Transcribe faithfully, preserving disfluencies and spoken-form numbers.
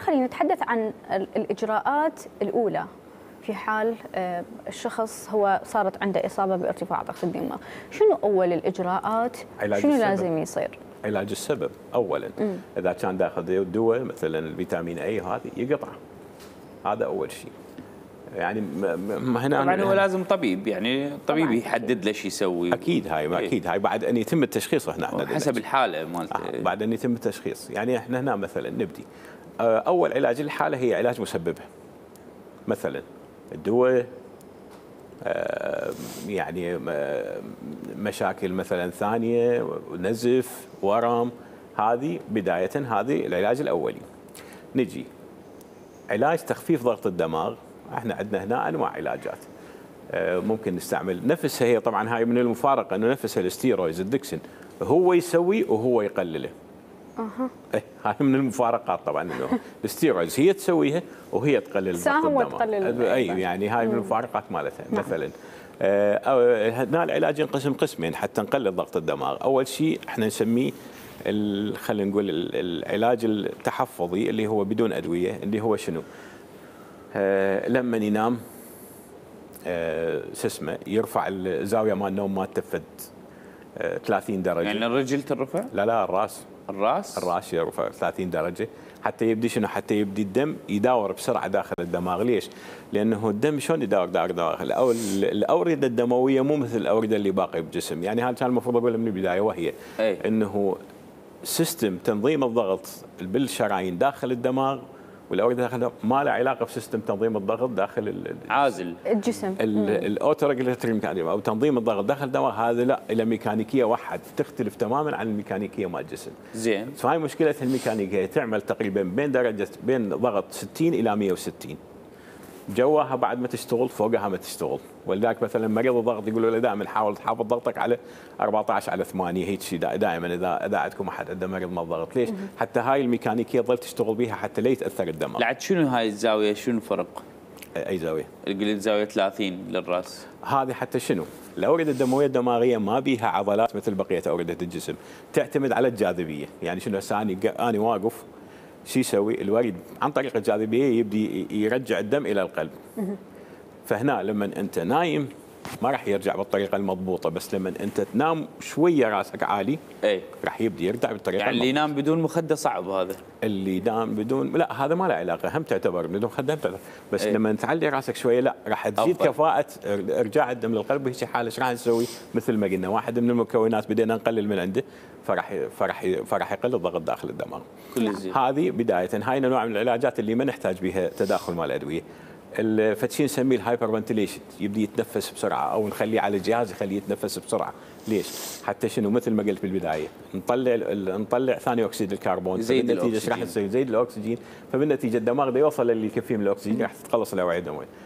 خلينا نتحدث عن الإجراءات الأولى في حال الشخص هو صارت عنده إصابة بارتفاع ضغط الدماغ. شنو أول الإجراءات؟ شنو السبب. لازم يصير؟ علاج السبب أولاً. مم. إذا كان داخل دواء مثلاً الفيتامين أي هذه يقطع، هذا أول شيء. يعني ما هنا طبعاً هو لازم طبيب، يعني الطبيب يحدد له شو يسوي. أكيد هاي ما أكيد هاي بعد أن يتم التشخيص هنا حسب الحالة مالته. آه بعد أن يتم التشخيص. يعني إحنا هنا مثلاً نبدي أول علاج للحالة هي علاج مسببها. مثلاً الدواء يعني مشاكل مثلا ثانيه، نزف، ورم، هذه بدايه هذه العلاج الاولي. نجي علاج تخفيف ضغط الدماغ، احنا عندنا هنا انواع علاجات ممكن نستعمل نفسها، هي طبعا هاي من المفارقه انه نفسها الاستيرويدز الدكسن هو يسوي وهو يقلله. اها ايه هاي من المفارقات طبعا انه الستيرويدز هي تسويها وهي تقلل ضغط الدماغ. تقلل اي يعني هاي من المفارقات مالتها. نعم. مثلا آه هنا العلاج ينقسم قسمين حتى نقلل ضغط الدماغ. اول شيء احنا نسميه خلينا نقول العلاج التحفظي اللي هو بدون ادويه، اللي هو شنو؟ آه لما ينام آه شو اسمه يرفع الزاويه مال النوم مالته فد آه ثلاثين درجه. يعني الرجل ترفع؟ لا لا الراس. الراس؟ الراس يرفع ثلاثين درجه حتى يبدي شنو؟ حتى يبدي الدم يداور بسرعه داخل الدماغ. ليش؟ لانه الدم شلون يداور داخل داخل الاورده الدمويه مو مثل الاورده اللي باقي بالجسم. يعني هذا كان المفروض اقوله من البدايه، وهي أي. انه سيستم تنظيم الضغط بالشرايين داخل الدماغ والاورده داخل ما له علاقه بسيستم تنظيم الضغط داخل عازل الجسم. الاوتو ريجوليتوري او تنظيم الضغط داخل الدماغ، هذا لا له ميكانيكيه واحد تختلف تماما عن الميكانيكيه مال الجسم. زين. فهاي مشكله الميكانيكيه، تعمل تقريبا بين درجه بين ضغط ستين الى مئة وستين، جواها بعد ما تشتغل فوقها ما تشتغل. ولذلك مثلا مريض الضغط يقولوا له دائما حاول تحافظ ضغطك على أربعة عشر على ثمانية، هيك شيء دائما اذا اذا عندكم احد عنده مريض مال ضغط. ليش؟ حتى هاي الميكانيكيه تظل تشتغل بها حتى لا يتاثر الدماغ. لعد شنو هاي الزاويه؟ شنو الفرق؟ اي زاويه؟ قلت زاويه ثلاثين للراس. هذه حتى شنو؟ الاورده الدمويه الدماغيه ما بيها عضلات مثل بقيه اورده الجسم، تعتمد على الجاذبيه. يعني شنو هسه اني اني واقف شو يسوي؟ الوريد عن طريق الجاذبيه يبدي يرجع الدم الى القلب. فهنا لما انت نايم ما راح يرجع بالطريقه المضبوطه، بس لما انت تنام شويه راسك عالي اي راح يبدي يرجع بالطريقه يعني اللي ينام بدون مخده صعب هذا. اللي ينام بدون لا هذا ما له علاقه، هم تعتبر بدون مخده هم تعتبر. بس أي. لما تعلي راسك شويه لا راح تزيد أفضل. كفاءه ارجاع الدم للقلب. وهيك حاله ايش راح نسوي؟ مثل ما قلنا واحد من المكونات بدينا نقلل من عنده فراح فراح فراح يقل الضغط داخل الدماغ. كل زين. هذه بدايه. هاي نوع من العلاجات اللي ما نحتاج بها تداخل مال الادويه. الفتشي نسميه الهايبر فنتيليشن، يبدي يتنفس بسرعه او نخليه على الجهاز يخليه يتنفس بسرعه. ليش؟ حتى شنو؟ مثل ما قلت بالبدايه نطلع نطلع ثاني اكسيد الكربون، فبالنتيجه ايش راح يصير؟ زيد الاكسجين، فبالنتيجه الدماغ ده يوصل اللي يكفيه من الاكسجين راح تتخلص الاوعيه الدمويه.